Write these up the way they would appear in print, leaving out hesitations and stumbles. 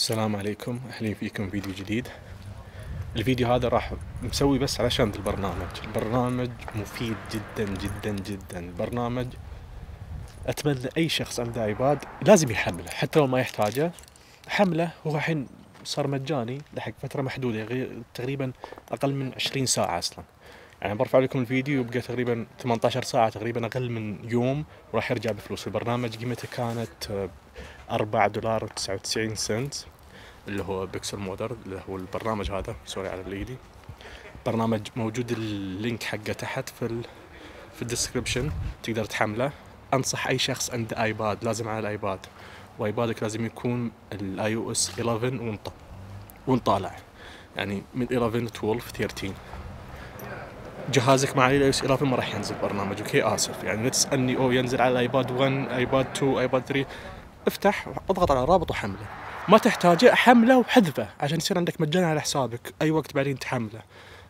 السلام عليكم، أهلين فيكم فيديو جديد. الفيديو هذا راح مسوي بس علشان البرنامج مفيد جدا جدا جدا. البرنامج أتمنى أي شخص عنده ايباد لازم يحمله حتى لو ما يحتاجه. حمله، هو الحين صار مجاني لحق فترة محدودة، تقريبا أقل من 20 ساعة أصلا. يعني برفع لكم الفيديو يبقى تقريبا 18 ساعة، تقريبا أقل من يوم، وراح يرجع بفلوس. البرنامج قيمته كانت $4.99 اللي هو بيكسل مودر، اللي هو البرنامج هذا. سوري على الإيدي. برنامج موجود اللينك حقه تحت في الديسكريبشن، تقدر تحمله. أنصح أي شخص عنده ايباد، لازم على الايباد، وايبادك لازم يكون الاي او اس 11 ونطالع، يعني من 11 12 13. جهازك مع الاي او اس 11 ما راح ينزل برنامج، اوكي اسف. يعني لا تسالني ينزل على الايباد 1 ايباد 2 ايباد 3. افتح اضغط على الرابط وحمله. ما تحتاجه حمله وحذفه عشان يصير عندك مجانا على حسابك، اي وقت بعدين تحمله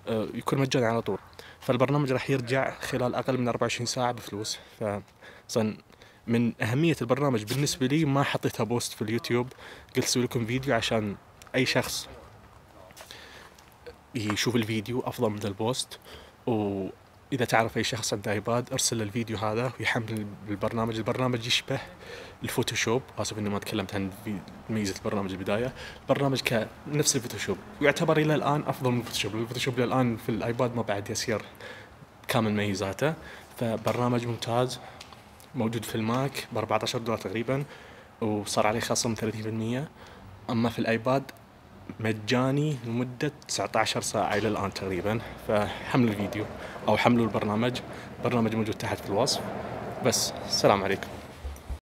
يكون مجانا على طول. فالبرنامج راح يرجع خلال اقل من 24 ساعه بفلوس. فصن من اهميه البرنامج بالنسبه لي ما حطيتها بوست في اليوتيوب، قلت اسوي لكم فيديو عشان اي شخص يشوف الفيديو افضل من البوست. واذا تعرف اي شخص عنده ايباد ارسل الفيديو هذا ويحمل البرنامج. البرنامج يشبه الفوتوشوب، اسف اني ما تكلمت عن ميزه البرنامج البدايه. البرنامج كنفس الفوتوشوب، ويعتبر الى الان افضل من الفوتوشوب. الفوتوشوب الى الان في الايباد ما بعد يسير كامل ميزاته. فبرنامج ممتاز، موجود في الماك $14 تقريبا، وصار عليه خصم 30%. اما في الايباد مجاني لمدة 19 ساعة إلى الآن تقريبا. فحملوا الفيديو أو حملوا البرنامج موجود تحت في الوصف. بس السلام عليكم.